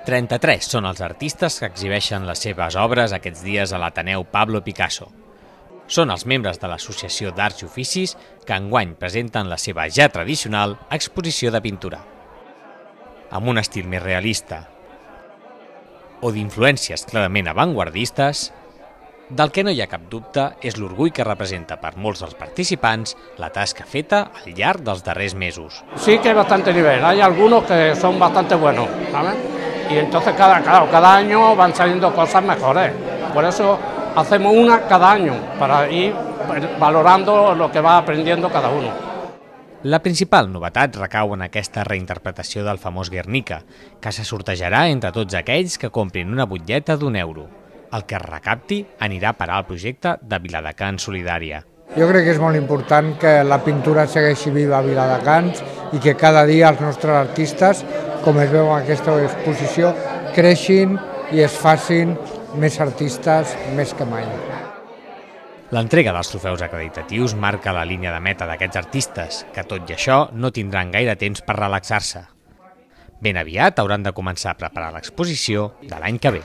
33 són els artistes que exhibeixen les seves obres aquests dies a l'Ateneu Pablo Picasso. Són els membres de l'Associació d'Arts i Oficis que enguany presenten la seva ja tradicional exposició de pintura. Amb un estil més realista o d'influències clarament avantguardistes, del que no hi ha cap dubte és l'orgull que representa per molts dels participants la tasca feta al llarg dels darrers mesos. Sí que hay bastante nivel, hay algunos que son bastante buenos, ¿sabes? Y entonces cada año van saliendo cosas mejores. Por eso hacemos una cada año, para ir valorando lo que va aprendiendo cada uno. La principal novetat recau en aquesta reinterpretació del famós Guernica, que se sortejarà entre tots aquells que comprin una butlleta d'€1. El que es recapti anirà a parar al projecte de Viladecans Solidària. Jo crec que és molt important que la pintura segueixi viva a Viladecans i que cada dia els nostres artistes, com es veu en aquesta exposició, creixin i es facin més artistes més que mai. L'entrega dels trofeus acreditatius marca la línia de meta d'aquests artistes, que tot i això no tindran gaire temps per relaxar-se. Ben aviat hauran de començar a preparar l'exposició de l'any que ve.